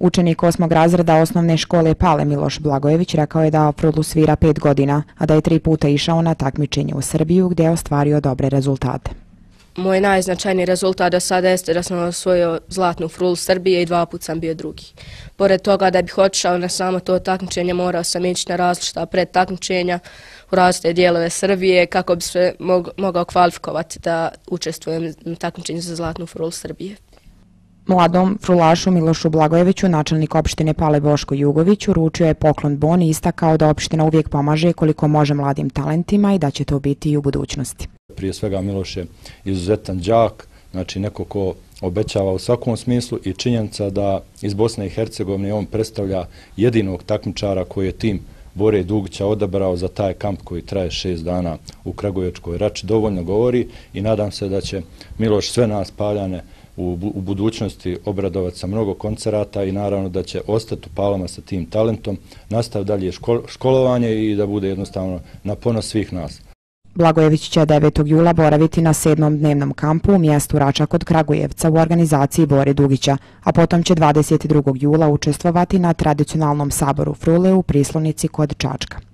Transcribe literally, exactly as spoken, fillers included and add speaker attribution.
Speaker 1: Učenik osmog razreda osnovne škole Pale Miloš Blagojević rekao je da frulu svira pet godina, a da je tri puta išao na takmičenje u Srbiju gdje je ostvario dobre rezultate.
Speaker 2: Moj najznačajniji rezultat do sada jeste da sam osvojio zlatnu frulu Srbije i dva put sam bio drugi. Pored toga da bih otišao na samo to takmičenje, morao sam ići na različita predtakmičenja u različite dijelove Srbije kako bi se mog, mogao kvalifikovati da učestvujem na takmičenju za zlatnu frulu Srbije.
Speaker 1: Mladom frulašu Milošu Blagojeviću načelnik opštine Pale Boško Jugović uručio je poklon bon i istakao da opština uvijek pomaže koliko može mladim talentima i da će to biti i u budućnosti.
Speaker 3: Prije svega Miloš je izuzetan đak, znači neko ko obećava u svakom smislu i činjenica da iz Bosne i Hercegovine on predstavlja jedinog takmičara koji je tim Bore Dugića odabrao za taj kamp koji traje šest dana u Kragujevačkoj Rači, dovoljno govori i nadam se da će Miloš sve nas Paljane u, u budućnosti obradovati sa mnogo koncerata i naravno da će ostati u Palama sa tim talentom, nastav dalje škol, školovanje i da bude jednostavno na ponos svih nas.
Speaker 1: Blagojević će devetog jula boraviti na sedmom dnevnom kampu u mjestu Rača kod Kragujevca u organizaciji Bore Dugića, a potom će dvadeset drugog jula učestvovati na tradicionalnom saboru frule u Prislonici kod Čačka.